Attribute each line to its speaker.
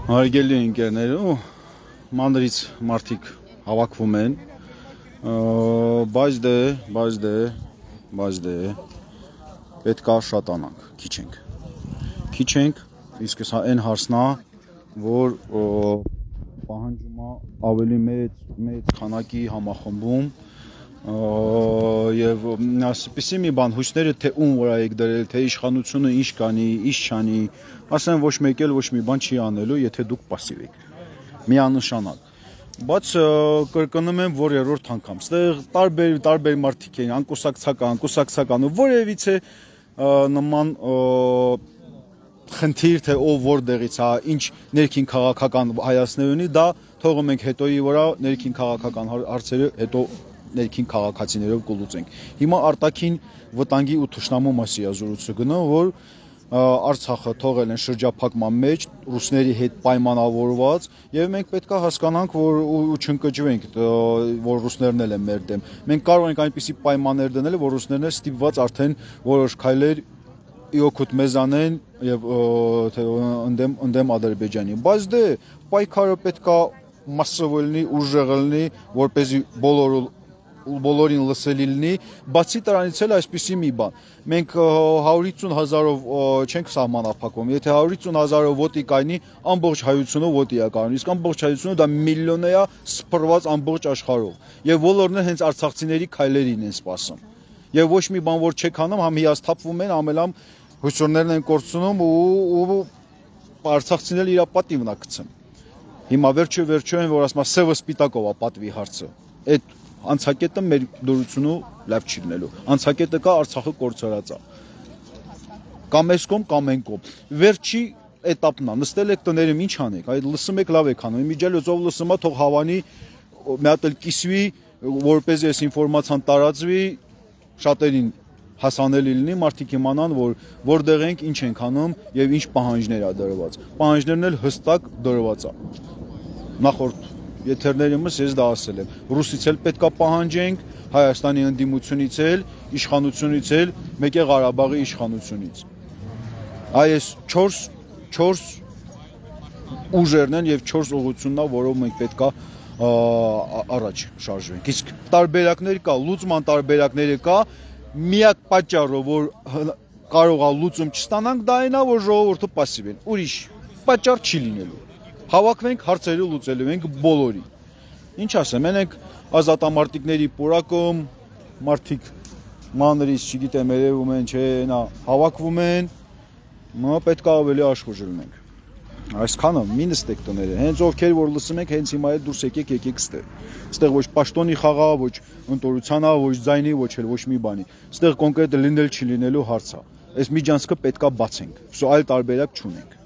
Speaker 1: Հարգելի ընկերներ, մանրից մարդիկ հավաքվում են, բայց պետք է շատանանք, քիչ ենք, իսկ սա այն հարցն է, որ պահանջում է ավելի մեծ քանակի համախմբում եւ ասպիսի մի բան հույսները թե ում վրա եք դրել, թե իշխանությունը ինչ կանի, ինչ չանի, ասեն ոչ մեկ էլ ոչ մի բան չի անելու, եթե դուք пассив եք։ Միանշանակ։ Բայց կրկնում եմ, որ երրորդ անգամ, ստեղ տարբեր մարդիկ են, անկուսակցական, որևիցե նման խնդիր թե ով որտեղից է, ինչ ներքին քաղաքական հայացքներ ունի, դա թողում ենք հետոյի վրա, ներքին քաղաքական հարցերը հետո ներքին քաղաքացիներով կլուծենք։ Հիմա արտաքին վտանգի ու թշնամու մասի զրույցը գնում, որ Արցախը թողել են շրջափակման մեջ, ռուսների հետ պայմանավորված, եւ մենք պետք է հասկանանք, որ ու չընկճվենք, որ ռուսներն էլ են մեր դեմ։ Մենք կարող ենք այնպիսի պայմաններ դնել, որ ռուսներն էլ ստիպված արդեն որոշ քայլեր իօքուտ մեզ անեն եւ ընդդեմ Ադրբեջանի։ Բայց դե պայքարը պետք է մասսով լինի, ուժեղ լինի, որպեսզի բոլորին լսելի լինի, բացի դրանից էլ այսպիսի մի բան։ Մենք 150,000-ով չենք սահմանափակվում, եթե 150,000-ով ոտի կայնի, ամբողջ հայությունը ոտի է կայանում, իսկ ամբողջ հայությունը դա միլիոն է սփռված ամբողջ աշխարհով։ Եվ բոլորն էլ հենց արցախցիների քայլերին են սպասում։ Եվ ոչ մի բան որ չեք անում, համ հիասթափվում են, ամենամ հույսորներն են կորցնում ու արցախցիներն իր պատիվն է գցում։ Հիմա վերջո են որ ասում սևը սպիտակով է պատվի հարցը։ Այդ անցակետը մեր դրությունը լավ չի լինելու։ Անցակետը կա Արցախը կորցրած է։ Կամ այս կողմ, կամ այն կողմ։ Վերջի этаպն է։ Նստել եք տներում ինչ անեք։ Այդ լսում եք լավ եք անում։ Իմիջիալից ով լսում է, թող հավանի, մի հատ էլ կիսվի, որպեսզի այս ինֆորմացիան տարածվի, շատերին հասանելի լինի, մարդիկ իմանան, որ որտեղ ենք, ինչ ենք անում եւ ինչ պահանջներ է դրված։ Պահանջներն էլ հստակ դրված է։ Նախորդ եթերներիմս ես դա ասել եմ։ Ռուսից էլ պետքա պահանջենք, Հայաստանի ընդդիմությունից էլ, իշխանությունից էլ, մեկ է Ղարաբաղի իշխանությունից։ Այս 4 ուժերն են եւ 4 ուղղությունն է, որով մենք պետքա առաջ շարժվենք։ Իսկ տարբերակներ կա, լուծման տարբերակները կա, միակ պատճառը, որ կարող է լուծում չստանանք, դա այն է, որ ժողովուրդը пассив են։ Ուրիշ պատճառ չի լինելու։ Հավաքվենք, հարցերը լուծելու ենք բոլորի։ Ինչ ասեմ, մենք ազատամարտիկների պուրակում, մարդիկ մանրից, չգիտեմ, երևում են, չէ, նա հավաքվում են, պետք է ավելի աշխուժ լինենք։ Այսքանը մի նստեք տները, հենց ովքեր որ լսում եք, հենց հիմա դուրս եկեք ստեղ։ Ստեղ ոչ պաշտոնի խաղա, ոչ ընտորության, ոչ ձայնի, ոչ մի բանի։ Ստեղ կոնկրետ լինել չի լինելու հարց է։ Այս միջանցքը պետք է բացենք։ Այլ տարբերակ չունենք։